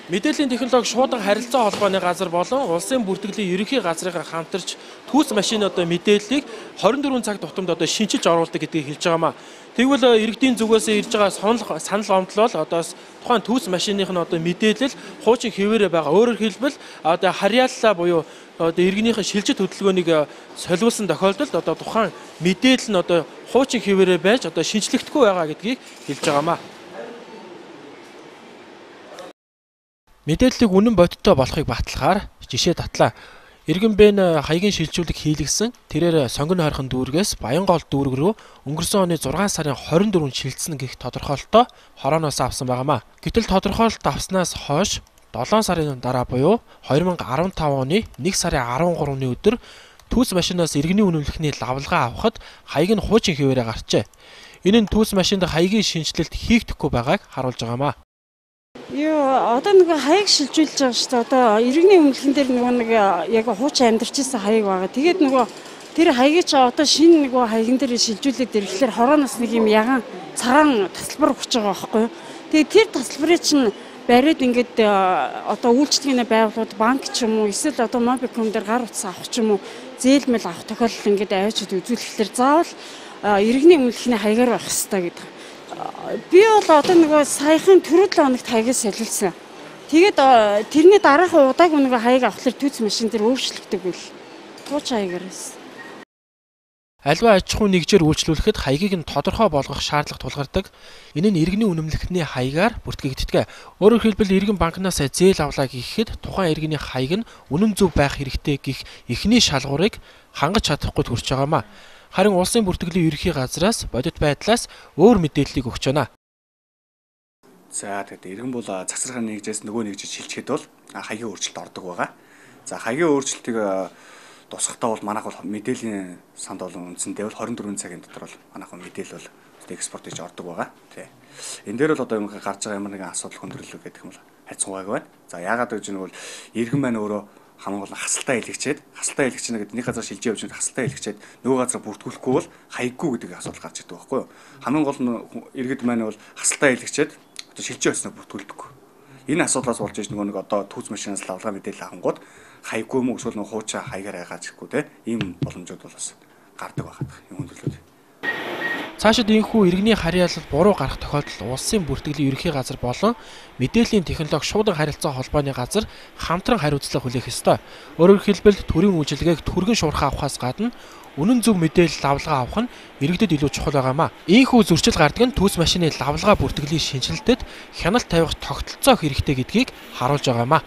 Мэдээллийн технологи шуудан харилцаа холбооны газар болон улсын бүртгэлийн ерөнхий газрынхаа хамтарч түүс машин мэдээллийг 24 цаг тутамд шинжилж оруулдаг гэдгийг хэлж байгаамаа. Тэгвэл иргэдийн зүгээс ирж байгаа санал гомдол бол тухайн түүс машиных нь мэдээлэл хуучин хэвээрээ байгаа. Өөрөөр хэлбэл харьяаллаа буюу иргэнийхэн шилжит хөдөлгөөнийг солиулсан тохиолдолд тухайн мэдээлэл нь хуучин хэвээрээ байж шинжлэхдэггүй байгаа гэдгийг хэлж байгаамаа. Мэдээллийг үнэн бодиттой болохыг баталгаар жишээ татлаа. Иргэн Бэн хаягийн шилжүүлэг хийлгсэн тэрээр сонгон хойрхон дүүргээс Баянгол дүүрэг рүү өнгөрсөн оны 6 сарын 24-нд шилжсэн гэх тодорхойлолтоо хорооноос авсан байгаамаа. Гэтэл тодорхойлолт авснаас хойш 7 сарын дараа буюу 2015 оны 1 сарын 13-ны өдөр түүс машинаас иргэний үнэмлэхний лавлгаа авахад хаяг нь хуучин хэвээрээ гарчээ. Энэ нь түүс машинд хаягийн шинжилэлт хийгдэхгүй байгааг харуулж байгаамаа. Одоо нэг хаяг шилжүүлж байгаа шүү дээ. Одоо иргэний үнэмлэхэн дээр яг хуучин амьдарч ирсэн хаяг байгаа. Тэгээд тэр хаягийг одоо шинэ хаягн дээр шилжүүлээд ирэхлээр хорооноос нэг юм ягаан цагаан тасалбар өгч байгаа байхгүй юу. Тэгээд тэр тасалбарыг чинь бариад ингээд үйлчлэгний байгууллагууд банк ч юм уу эсвэл Mobicom дээр гар утас авах ч юм уу зээлмэл авах тохиолдол ингээд аваачид үзүүлэхлээр заавал иргэний үнэмлэхний хаягаар байх хэрэгтэй гэдэг. Би бол саяхан түрүү 7 хоногт хаягийг солиулсан. Тэгээд тэрний дараах удааг хаяг авахлаар түүц машин дээр өөрчлөгдөг үл. Тууч хаягаараас. Альва аж ахуй нэгжээр үйлчлүүлэхэд хаягийг нь тодорхой болгох шаардлага тулгардаг. Энэ нь иргэний үнэмлэхний хаягаар бүртгэгддэг. Өөрөөр хэлбэл иргэн банкнаас зээл авлаа гэхэд тухайн иргэний хаяг нь үнэн зөв байх хэрэгтэй гэх эхний шалгуурыг хангаж чадахгүй төрж байгаамаа. Харин улсын бүртгэлийн ерөнхий газраас бодит байдлаас өөр мэдээллийг өгч байна. За тэгээд иргэн бол засгийн нэгжээс нөгөө нэгжид шилжихэд бол хаягийн өөрчлөлт ордог байгаа. За хаягийн өөрчлөлтийг тусгахдаа бол манайх бол мэдээллийн санд бол үндсэндээ бол 24 цагийн дотор бол манайх мэдээлэл бол экспорт хийж ордог байгаа. Тий. Энэ дээр бол юм гарч байгаа ямар нэгэн асуудал хөндрөлөө гэдэг юм бол хайцангуйг байна. За яагаад гэж нэг бол иргэн маань өөрөө хамгийн гол нь хасалтаа илгэчээд гэдэг нэг газар шилжиж явж байгаа хасалтаа илгэчээд нөгөө газар бүртгүүлэхгүй бол хаяггүй гэдэг асуудал гарч ирдэг байхгүй юу. Хамгийн гол нь иргэд маань бол хасалтаа илгэчээд шилжиж байснаа бүртгүүлдэггүй. Энэ асуудлаас болж иж нөгөө түүц машинаас лавлгаа мэдээлэл авангууд хаяггүй юм уу эсвэл нөгөө хуучаа хаягаар айгааж ирэхгүй те ийм боломжууд бол бас гардаг байхад юм хөндлөлүүд. Цаашид энэхүү иргэний харьяалал буруу гарах тохиолдол улсын бүртгэлийн ерөнхий газар болон мэдээллийн технологи шуудан харилцаа холбооны газар хамтран хариуцлага хүлээх ёстой. Өөрөөр хэлбэл төрийн үйлчилгээг түргэн шуурхаа авахаас гадна үнэн зөв мэдээлэл лавлгаа авах нь иргэдэд илүү чухал байгаамаа. Ийхүү зөрчил гардаг нь түүс машины лавлгаа бүртгэлийн шинжилэлтэд хяналт тавих тогтолцоо хэрэгтэй гэдгийг харуулж байгаамаа.